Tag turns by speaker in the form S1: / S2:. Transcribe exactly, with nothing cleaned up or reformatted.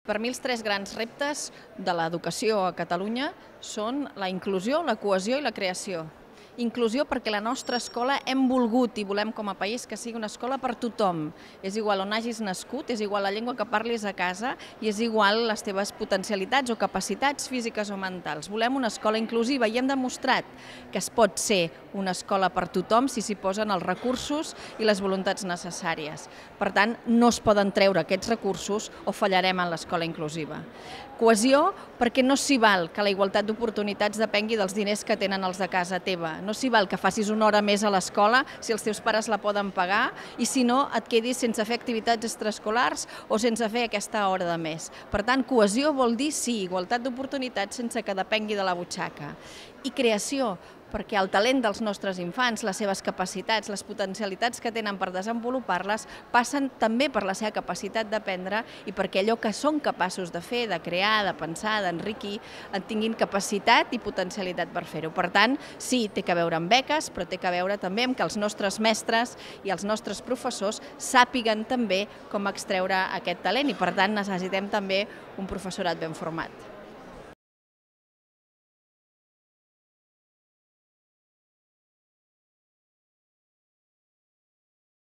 S1: Per mi els tres grans reptes de l'educació a Catalunya són la inclusió, la cohesió i la creació. Inclusió perquè la nostra escola hem volgut i volem com a país que sigui una escola per tothom. És igual on hagis nascut, és igual la llengua que parlis a casa i és igual les teves potencialitats o capacitats físiques o mentals. Volem una escola inclusiva i hem demostrat que es pot ser una escola per tothom si s'hi posen els recursos i les voluntats necessàries. Per tant, no es poden treure aquests recursos o fallarem en l'escola inclusiva. Cohesió perquè no s'hi val que la igualtat d'oportunitats depengui dels diners que tenen els de casa teva. No s'hi val que facis una hora més a l'escola si els teus pares la poden pagar i si no et quedis sense fer activitats extraescolars o sense fer aquesta hora de més. Per tant, cohesió vol dir sí, igualtat d'oportunitats sense que depengui de la butxaca. I creació, perquè el talent dels nostres infants, les seves capacitats, les potencialitats que tenen per desenvolupar-les, passen també per la seva capacitat d'aprendre i perquè allò que són capaços de fer, de crear, de pensar, d'enriquir, en tinguin capacitat i potencialitat per fer-ho. Per tant, sí, té que veure amb beques, però té que veure també amb que els nostres mestres i els nostres professors sàpiguen també com extreure aquest talent i, per tant, necessitem també un professorat ben format.